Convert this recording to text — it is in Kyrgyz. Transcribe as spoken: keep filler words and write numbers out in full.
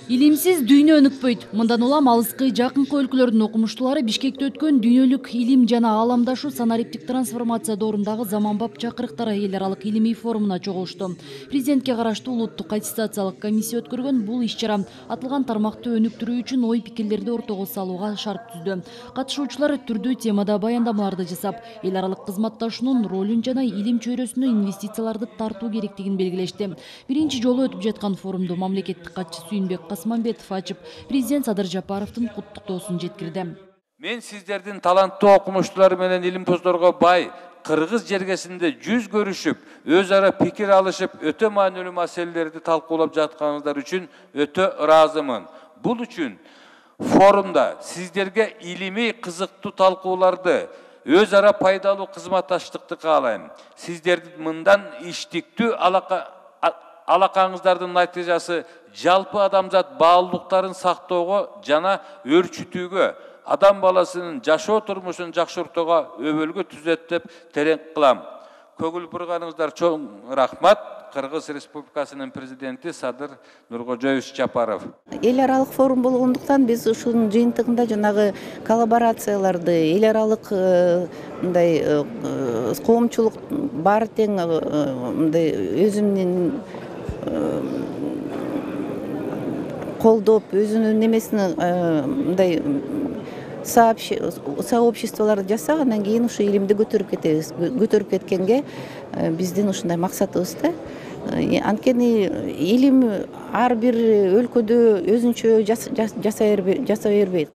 Илимсиз дүйнө өнүкпөйт. Мындан улам алыскы жакынкы өлкөлөрдүн окумуштуулары Бишкекте өткөн дүйнөлүк илим жана ааламдашуу санариптик трансформация доорундагы заманбап чакырыктар эл аралык илимий форумуна чогулушту. Президентке караштуу улуттук аттестациялык комиссия өткөргөн бул иш-чара атылган тармакты өнүктүрүү үчүн ой пикирлерди ортого салууга шарт түздү. Катышуучулар түрдүү темада баяндамаларды жасап, эл аралык кызматташуунун ролун жана илим чөйрөсүнө инвестицияларды тартуу керектигин белгилешти. Биринчи жолу өтүп жаткан форумду мамлекеттик катчы Сүйүнбек Касманбетов ачып, президент Садыр Жапаровдун куттуктоосун жеткирди. Мен сиздердин таланттуу окумуштуулар менен илимпоздорго бай Кыргыз жергесинде жүз көрүшүп, өз ара пикир алышып, өтө маанилүү маселелерди талкуулап жатканыңыздар үчүн өтө ыраазымын. Бул үчүн форумда сиздерге илимий кызыктуу талкууларды, өз ара пайдалуу кызматташтыкты каалайм. Сиздердин мындан иштиктүү алака алакаңыздардын натыйжасы жалпы адамзат баалуулуктарын сактоого жана өрчүтүүгө, адам баласынын жашоо турмушун жакшыртууга өбөлгө түзөт деп терең кылам. Көгүл бурганыңыздар чоң рахмат. Кыргыз Республикасынын президенти Садыр Нуркожоевич Жапаров. Эл аралык форум болгондуктан биз ушунун жыйынтыгында жанагы коллаборацияларды, эл аралык мындай коомчулук баары тең мындай өзүнүн колдоп, өзүнүн немесин мындай сообществолорду жасап, андан кийин ушу илимди көтөрүп кетебиз. Көтөрүп кеткенге биздин ушундай максатыбыз да. Анткени илим ар бир өлкөдө өзүнчө жасай бербейт.